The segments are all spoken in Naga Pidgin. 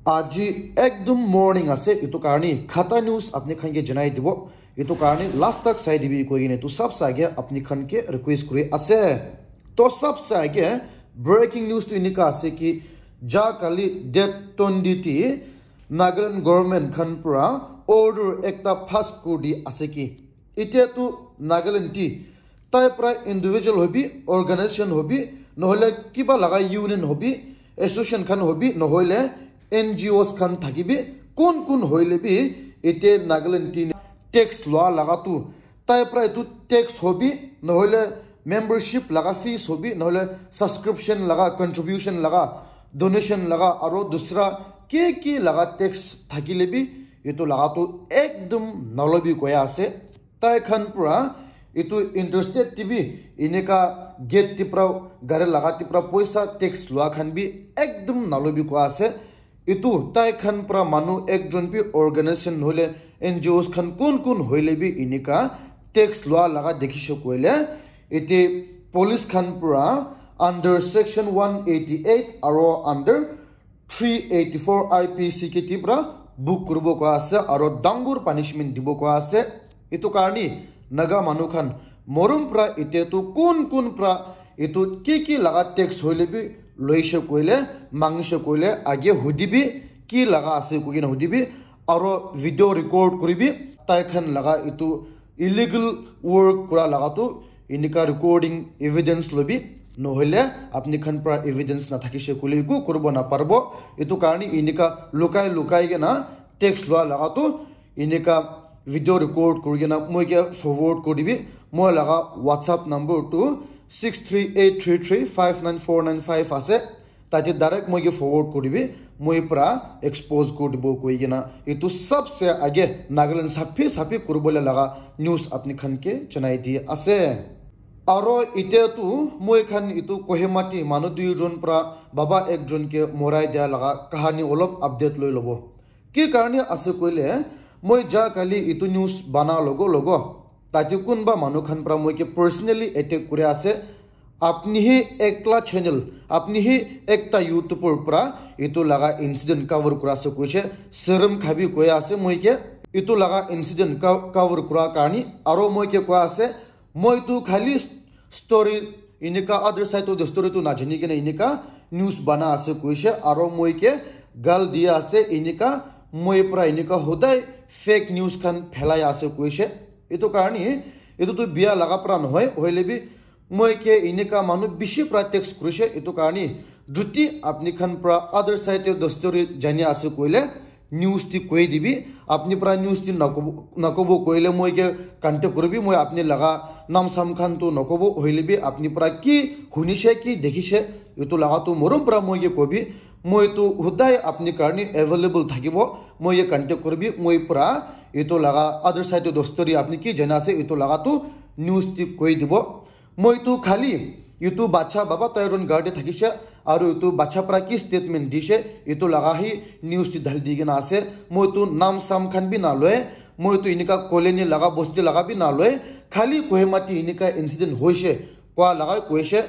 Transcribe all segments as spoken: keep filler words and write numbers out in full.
Aji ekdom morning ase, itu karni khata news apni khan ke janai dibo. Itu karni last tak sai dibi koi kene itu sab sa ke apni khan ke request kuri ase. To sab sa ke breaking news tu inika ase ki ja kali date twenty ti Nagaland government khan pura order ekta pass kuri di ase ki. Itya tu Nagaland ti tai pra individual hobi, organization hobi, nohole kiba laga union hobi, association khan hobi, nohole N G Os khan thakibi, kun kun hoile bi ite Nagaland ti tax loa laga tu tai pra itu tax hobi, nohole membership laga fees hobi, nohole subscription laga, contribution laga, donation laga, aro dusra ki ki laga tax thakile bi itu laga tu ekdom nalobi koya ase. Tai khan pura itu interstate ti bi inika gate ti pra gari laga ti pra poisa tax loa khan bi ekdom nalobi koa ase. Itu tai khan pra manu ekjon bi organization nohole N G Os khan kun kun hoile bi inika tax loa laga dekhishe koile ite police khan pura under section one eighty eight aro under three eighty four I P C ke ti pra book kuribo koa ase aro dangur punishment dibo koa ase. Itu karni Naga manu khan morom pra ite tu kun kun pra itu ki ki laga tax hoile bi loishe koile, mangishe koile, age hudibi ki laga ase koi kena hudibi aro video record kuribi tai khan laga itu illegal work kura laga tu inika recording evidence lobi, nohole apni khan pra evidence na thakishe koile eku kuribo na parbo. Itu karni inika lukai lukai kena tax loa laga tu inika video record kuri kena moi ke forward kuri dibi. Moi laga WhatsApp number tu six three eight three three five nine four nine five ase. Tate direct moi ke forward kuri dibi, moi pra expose kuri dibo koi kena itu sabse age Nagaland saphi saphi kuribole laga news apni khan ke janai di ase. Aro ite tu moi khan itu Kohima ti manu duijon pra baba ekjon ke morai dia laga kahani olop update loi lobo. Ki karne ase koile, moi ja kali itu news bana logo logo tate kunba manu khan pra moi ke personally attack kuri ase. Apni hi ekla channel, apni hi ekta YouTuber pra itu laga incident cover kura ase koise, serum khabi koi ase moi ke itu laga incident co- cover kura karni aro moi ke koi ase, moi tu khali story inika other side of the story tu najani kena inika news bana ase koise aro moi ke gal dia ase inika moi pra inika hodai fake news khan phelai ase koise. Itu karni itu tu bia laga pra nohoi, hoile bi moi ke inika manu bishi pra text kurise, itu karni juti apni khan pra other side of the story jani ase koile news ti koi dibi, apni pra news ti nakobo nakobo koile moi ke contact kuribi, moi apni laga nam sam khan tu nakobo, hoile bi apni pra ki hunishe ki dekhishe itu laga tu morom pra moi ke kobi, moi tu hudai apni karni available thakibo, moi ke contact kuribi, moi pra itu laga other side of the story apni ki jana ase itu laga tu news ti koi dibo. Moi tu khali itu bacha baba toiron garde thakishe aru itu bacha pra ki statement dishe itu laga hi news ti dhal di kena ase. Moi tu nam sam khan bi na loe, moi tu inika colony laga bosti laga bi na loe, khali Kohima ti inika incident hoishe koa laga koishe.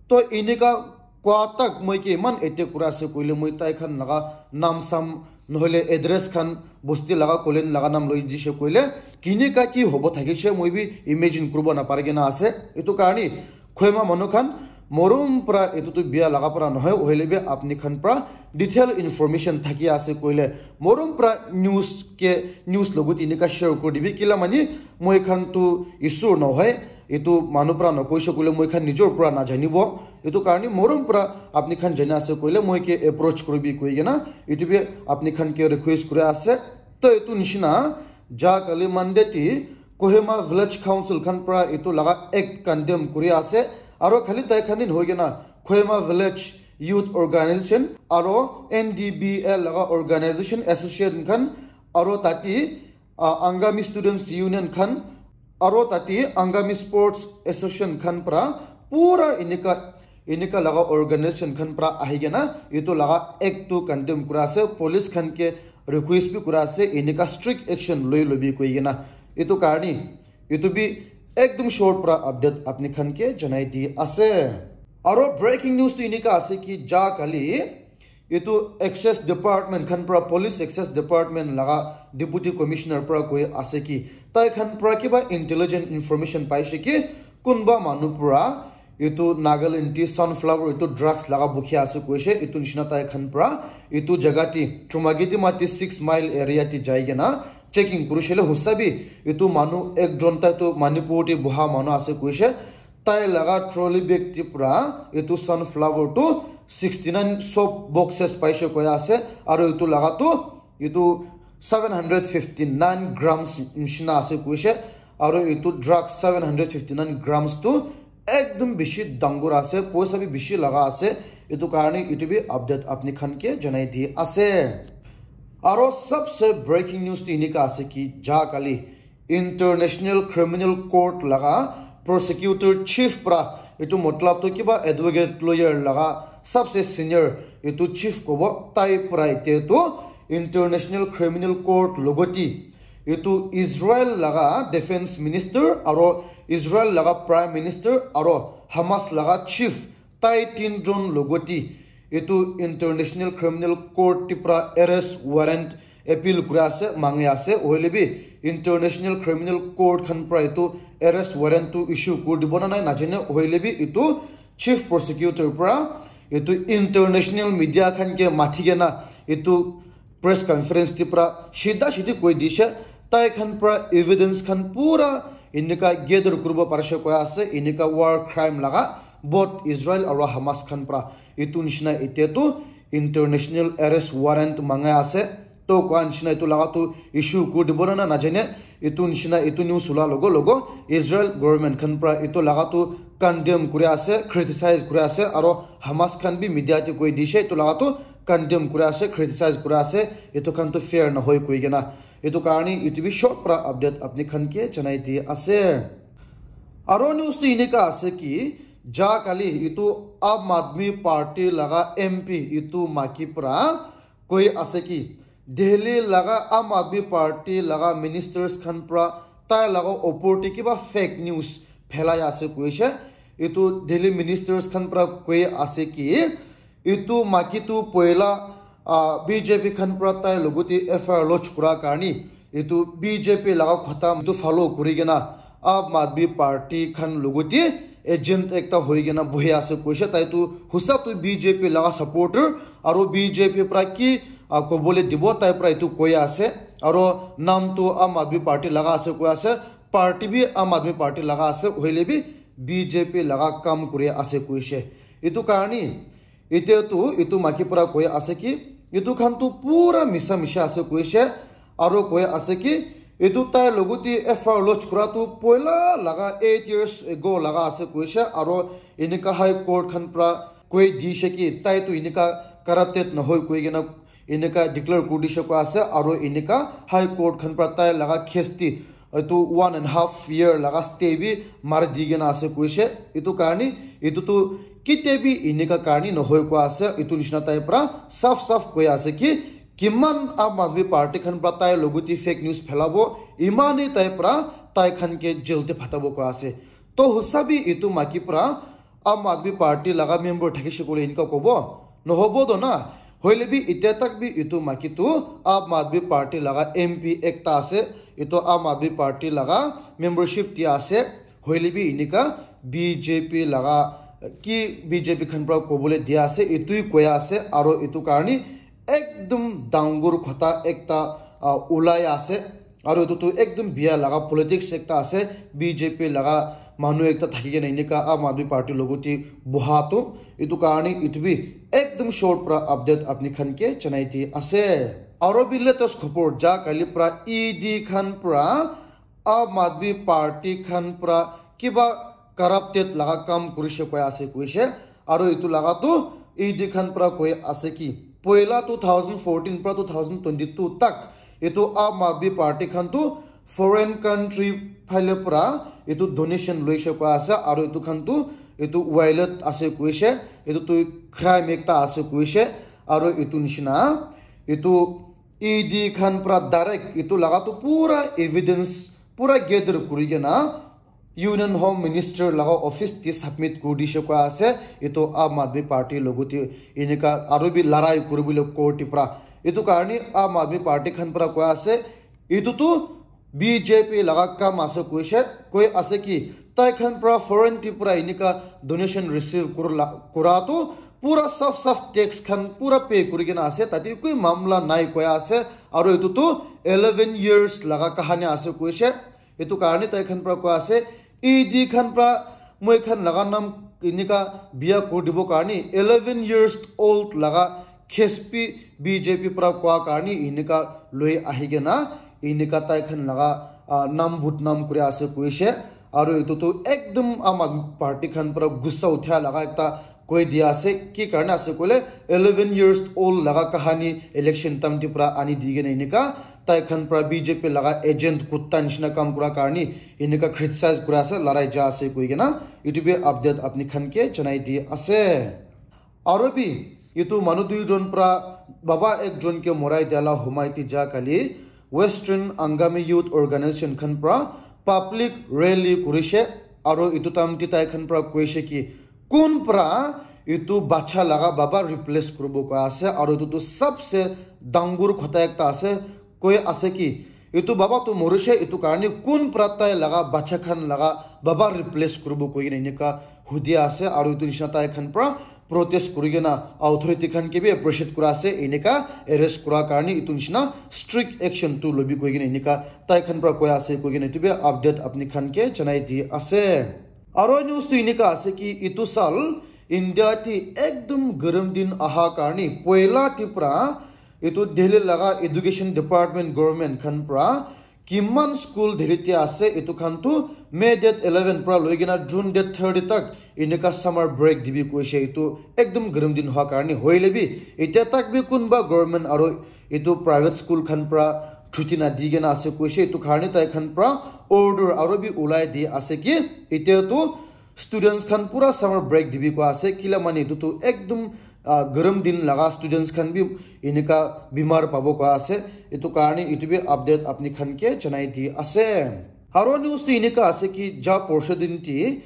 To inika koa tak moi ke iman attack kura ase koile moi tai khan laga nam sam nohole address khan bosti laga colony laga nam loi dishe koile kinika ki hobo thakishe moi bi imagine kuribo na pari kena ase. Itu karni Kohima manu khan morom pra itu tu bia laga pra nohoi, hoile bi apni khan pra detail information thaki ase koile morom pra news ke news logot inika share kuri dibi, kila mani moi khan tu isur nohoi, itu manu pra nokoise koile moi khan nijor pra najanibo. Itu karni morom pra apni khan jana ase koile moi ke approach kuribi koi kena itu bi apni khan ke request kuri ase. To itu nishina ja kali Monday ti Kohima Village Council khan pra itu laga act condemn kuri ase. Aro khali tai khan din hoi kena Kohima Village Youth Organization aro N D B A laga organization association khan aro tati uh, Angami Students Union khan aro tati Angami Sports Association khan pra pura inika inika laga organization khan pra ahi kena itu laga act tu condemn kura ase, police khan ke request bi kura ase inika strict action loi lobi koi kena. Itu karni itu bi ekdum short pra update apni khan ke janai di ase. Aro breaking news tu inika ase ki ja kali Etu Access Department khan pra, Police Access Department laga Deputy Commissioner pra koi ase ki, tai khan pra kiba intelligent information paise ki, kunba manu pra etu Nagaland te sunflower etu drugs laga bukhi ase koise, etu nishina tai khan pra etu jaga te Chumagiti Mati six mile area te jai kena checking kurishe le hosa bi etu manu ekjon tai tu Manipur te buha manu ase koise, tai laga trolley bag te pra etu sunflower tu sixty nine soap boxes paise koi ase, aru etu laga tu etu seven hundred fifty nine grams nishina ase koise, aru etu drug seven hundred fifty nine grams tu ekdum bishi dangor ase, poisa bi bishi laga ase, etu karne etu bi update apni khan ke janai di ase. Aro sabse breaking news tu enika ase ki ja kali International Criminal Court laga prosecutor chief pra, etu matlab tu kiba advocate lawyer laga sabse senior etu chief kobo, tai pra ite tu International Criminal Court logoti etu Israel laga defense minister aro Israel laga prime minister aro Hamas laga chief, tai tinjon logoti etu International Criminal Court te pra arrest warrant appeal kuri ase, mangi ase. Hoile bi International Criminal Court khan pra etu arrest warrant tu issue kuri dibo na nai najane. Hoile bi etu chief prosecutor pra etu international media khan ke mathi kena etu press conference te pra shida shidi koi dishe, tai khan pra evidence khan pura enika gather kuribo parishe koi ase, enika war crime laga both Israel aro Hamas khan pra etu nishina ite tu international arrest warrant mangai ase. To koa nishina etu laga tu issue kuri dibo na na najane, etu nishina etu news ula logo logo Israel government khan pra etu laga tu condemn kuri ase, criticize kuri ase, aro Hamas khan bi media te koi dishe etu laga tu condemn kuri ase, criticize kuri ase, etu khan tu fair nahoi koi kena. Etu karne etu bi short pra update apni khan ke janai di ase. Aro news tu enika ase ki, ja kali etu Aam Aadmi Party laga M P etu maki pra koi ase ki, Delhi laga Aam Aadmi Party laga ministers khan pra tai laga opor te kiba fake news phelai ase koise. Etu Delhi ministers khan pra koi ase ki, etu maki tu poila, ah, B J P khan pra tai logote F I R lodge kura karne etu B J P laga khota etu follow kuri kena Aam Aadmi Party khan logote agent ekta hoi kena bohi ase koise. Tai tu hosa tu B J P laga supporter aro B J P pra ki, ah, kobole dibo tai pra etu koi ase. Aro nam tu Aam Aadmi Party laga ase koi ase, party bi Aam Aadmi Party laga ase, hoile bi B J P laga kam kuri ase koise. Etu karne etia tu etu maki pra koi ase ki, etu khan tu pura misa misha ase koise, aro koi ase ki, etu tai logote F I R lodge kura tu poila laga eight years ago laga ase koise, aro enika High Court khan pra koi dishe ki, tai tu enika corrupted nahoi koi kena enika declare kuri dishe koi ase, aro enika High Court khan pra tai laga case te etu one and half year laga stay bi mari di kena ase koise. Etu karne etu tu kitia bi enika karne nahoi koi ase, etu nishina tai pra saf saf koi ase ki, kiman Aam Aadmi Party khan pra tai logote fake news phelabo, imane tai pra tai khan ke jail te phatabo koi ase. To hosa bi etu maki pra Aam Aadmi Party laga member thakishe koile enika kobo? Nohobo to na. Hoile bi etia tak bi etu maki tu Aam Aadmi Party laga M P ekta ase. Etu Aam Aadmi Party laga membership dia ase. Hoile bi enika B J P laga ki B J P khan pra kobole dia ase, etu hi koi ase, aro etu karne ekdum dangor khota ekta, ah, ulai ase. Aro etu tu ekdum bia laga politics ekta ase, B J P laga manu ekta thaki kena enika Aam Aadmi Party logote boha tu, etu karne etu bi ekdum short pra update apni khan ke janai di ase. Aro bi latest khobor ja kali pra E D khan pra Aam Aadmi Party khan pra kiba corrupted laga kam kurishe koi ase koise, aro etu laga tu E D khan pra koi ase ki, poila two thousand fourteen pra two thousand twenty-two tak etu Aam Aadmi Party khan tu foreign country phale pra etu donation loishe koi ase, aro etu khan tu etu violate ase koise, etu tu crime ekta ase koise, aro etu nishina etu E D khan pra direct etu laga tu pura evidence pura gather kuri kena Union Home Minister laga office te submit kuri dishe koi ase. Etu Aam Aadmi Party logote enika aru bi larai kuribole court te pra. Etu karne Aam Aadmi Party khan pra koi ase, etu tu B J P laga kam ase koishe, koi ase ki tai khan pra foreign te pra enika donation receive kurla, kura tu pura saf saf tax khan pura pay kuri kena ase, tate koi mamla nai koi ase. Aru etu tu eleven years laga kahani ase koishe. Etu karne tai khan pra koi ase, E D khan pra moi khan laga nam enika bia kuri dibo karne eleven years old laga case bi B J P pra koa karne enika loi ahi kena enika tai khan laga, ah, nam budnam kuri ase koishe. Aru etu tu ekdum Aam Aadmi Party khan pra gussa utha laga ekta koi dia ase, ki karne ase koile eleven years old laga kahani election time te pra ani di kena enika tai khan pra B J P laga agent kutta nishina kam kura karne enika criticize kura ase, larai ja ase koi kena etu bi update apni khan ke janai di ase. Aru bi etu manu duijon pra baba ekjon ke morai dia la humai ti ja kali Western Angami Youth Organization khan pra public rally kurishe. Aru etu time te tai khan pra koishe ki kun pra etu bacha laga baba replace kuribo koi ase, aru etu tu sabse dangor khota ekta ase, koi ase ki etu baba tu morishe, etu karne kun pra tai laga bacha khan laga baba replace kuribo koi kena enika hudi ase, aru etu nishina tai khan pra protest kuri kena authority khan ke bi appreciate kura ase, enika arrest kura karne etu nishina strict action tu lobi koi kena enika tai khan pra koi ase koi kena etu bi update apni khan ke janai di ase. Aro news tu enika ase ki etu sal India te ekdum garam din aha karne poila te pra etu Delhi laga education department government khan pra kiman school Delhi te ase etu khan tu May date eleven pra loi kena June date thirty tak enika summer break dibi koishe. Etu ekdum garam din hoa karne hoile bi etia tak bi kunba government aro etu private school khan pra chuti na di kena ase koishe. Etu karne tai khan pra order aro bi ulai di ase ki etia tu students khan pura summer break dibi koi ase, kila mane etu tu ekdum, ah, garam din laga students khan bi enika bimar pabo koi ase. Etu karne etu bi update apni khan ke janai di ase. Aro news tu enika ase ki ja porsho din ti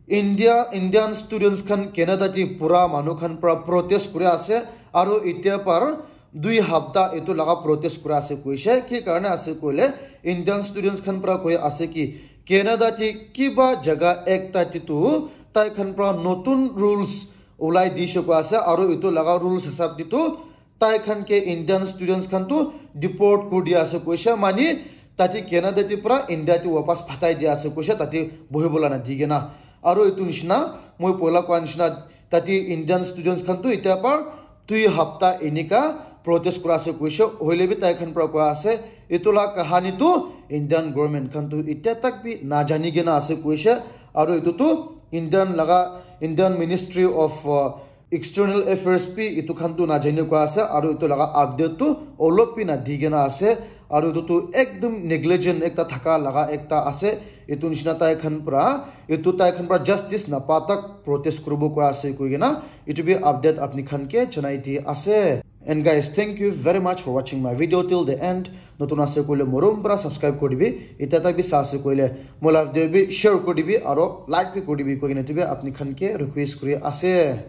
India, Indian students khan Canada ti pura manu khan pra protest kuri ase, aro etia par dui hapta etu laga protest kura ase koishe. Ki karne ase koile Indian students khan pra koi ase ki Canada te kiba jaga ekta te tu tai khan pra notun rules ulai dishe koi ase, aro etu laga rules hisab te tu tai khan ke Indian students khan tu deport kuri dia ase koishe, mane tate Canada te pra India te wapas phatai dia ase koishe, tate bohibola na di kena. Aro etu nishina moi poila koa nishina tate Indian students khan tu etia par dui hapta enika protest kura ase koishe, hoile bi tai khan pra koi ase etu la kahani tu Indian government khan tu etia tak bi na jani kena ase koishe. Aro etu tu Indian laga, Indian Ministry of, uh, External Affairs bi etu khan tu na jani koi ase, aro etu laga update tu olop bi na di kena ase, aro etu tu ekdum negligent ekta thaka laga ekta ase. Etu nishina tai khan pra, etu tai khan pra justice na pa tak protest kuribo koi ase koi kena etu bi update apni khan ke janai di ase. And guys, thank you very much for watching my video till the end. Notun ase koile morom pra subscribe kuri dibi, etia tak bi sa ase koile moi la video bi share kuri dibi aro like bi kuri dibi koi kena etu bi apni khan ke request kuri ase.